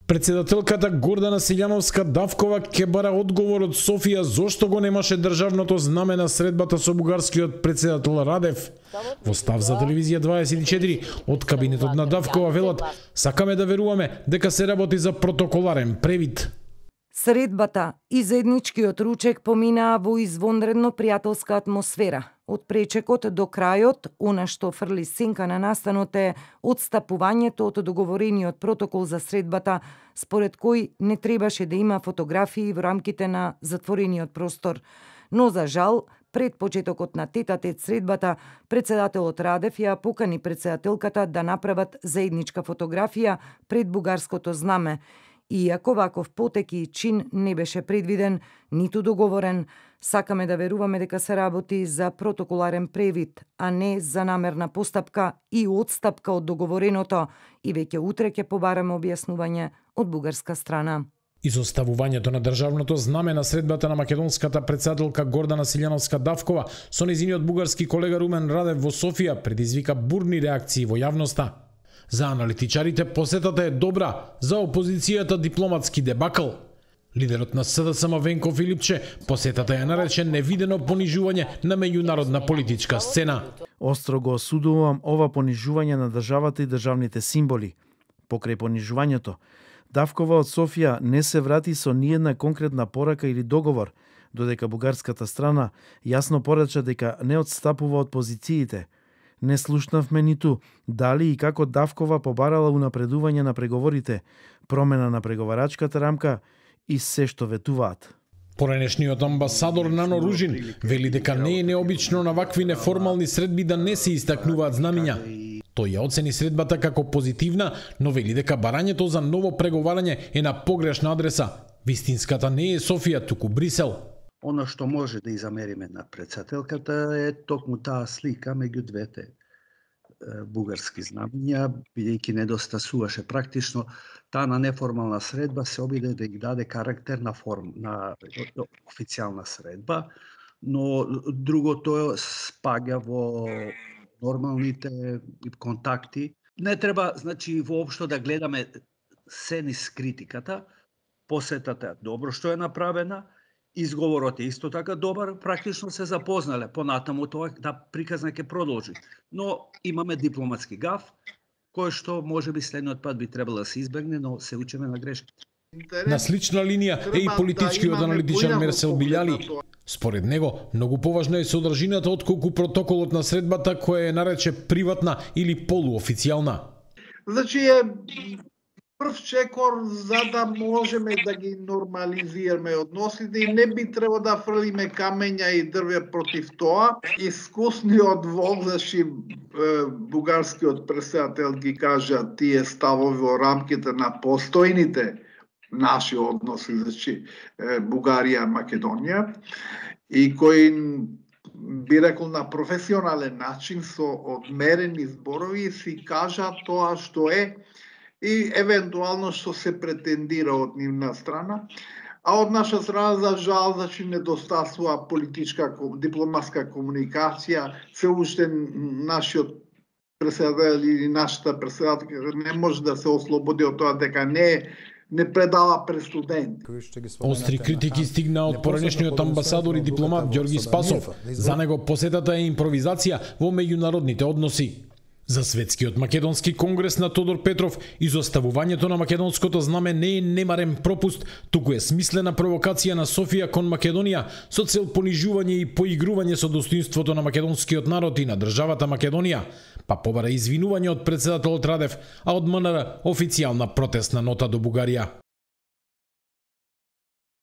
Председателката Гордана Силјановска-Давкова ќе бара одговор од Софија зошто го немаше државното знаме на средбата со бугарскиот председател Радев. Во став за телевизија 24 од кабинетот на Давкова велат: "Сакаме да веруваме дека се работи за протоколарен превид." Средбата и заедничкиот ручек поминаа во извонредно пријателска атмосфера. Од пречекот до крајот, она што фрли сенка на настанот е одстапувањето од договорениот протокол за средбата, според кој не требаше да има фотографии во рамките на затворениот простор. Но за жал, пред почетокот на тет-а-тет средбата, председателот Радев ја покани председателката да направат заедничка фотографија пред бугарското знаме. Иако ваков потек и чин не беше предвиден, ниту договорен, сакаме да веруваме дека се работи за протоколарен превид, а не за намерна постапка и одстапка од договореното, и веќе утре ќе побараме објаснување од бугарска страна. Изоставувањето на државното знаме на средбата на македонската председателка Гордана Силјановска-Давкова со нејзиниот бугарски колега Румен Радев во Софија предизвика бурни реакции во јавноста. За аналитичарите посетата е добра, за опозицијата дипломатски дебакл. Лидерот на СДСМ Венко Филипче посетата ја нарече невидено понижување на меѓународна политичка сцена. Остро го осудувам ова понижување на државата и државните символи. Покрај понижувањето, Давкова од Софија не се врати со ниедна конкретна порака или договор, додека бугарската страна јасно порача дека не одстапува од позициите. Не слушнавме ниту дали и како Давкова побарала унапредување на преговорите, промена на преговарачката рамка и се што ветуваат. Поранешниот амбасадор Нано Ружин вели дека не е необично на вакви неформални средби да не се истакнуваат знамиња. Тој ја оцени средбата како позитивна, но вели дека барањето за ново преговарање е на погрешна адреса. Вистинската не е Софија, туку Брисел. Оно што може да изамериме на председателката е токму таа слика меѓу двете бугарски знамиња, бидејќи недостасуваше практично таа на неформална средба се обиде да ги даде карактер на официјална средба, но другото спаѓа во нормалните контакти. Не треба, значи, воопшто да гледаме се низ критиката. Посетата е добро што е направена, изговорот е исто така добар, практично се запознале. Понатаму тоа да приказна ќе продолжи. Но имаме дипломатски гаф, кој што можеби следниот пат би требало да се избегне, но се учиме на грешките. На слична линија е и политичкиот аналитичар Мерсел Билјали. Според него, многу поважна е содржината отколку протоколот на средбата која е нарече приватна или полуофицијална. Значи е прв чекор за да можеме да ги нормализираме односите и не би требало да фрлиме камења и дрвја против тоа. Искусниот возачи бугарскиот председател ги кажа тие ставови во рамките на постојните наши односи, значи Бугарија-Македонија, и кој би рекол на професионален начин со одмерени зборови си кажа тоа што е и евентуално што се претендира од нивна страна, а од наша страна за жал значи недостасува политичка дипломатска комуникација, се уште нашиот председател или нашата председателка не може да се ослободи од тоа дека не предава пред студенти. Остри критики стигна од поранешниот амбасадор и дипломат Ѓорги Спасов. За него посетата е импровизација во меѓународните односи. За Светскиот македонски конгрес на Тодор Петров, изоставувањето на македонското знаме не е немарен пропуст, туку е смислена провокација на Софија кон Македонија со цел понижување и поигрување со достоинството на македонскиот народ и на државата Македонија, па побара извинување од председателот Радев, а од МНР официјална протестна нота до Бугарија.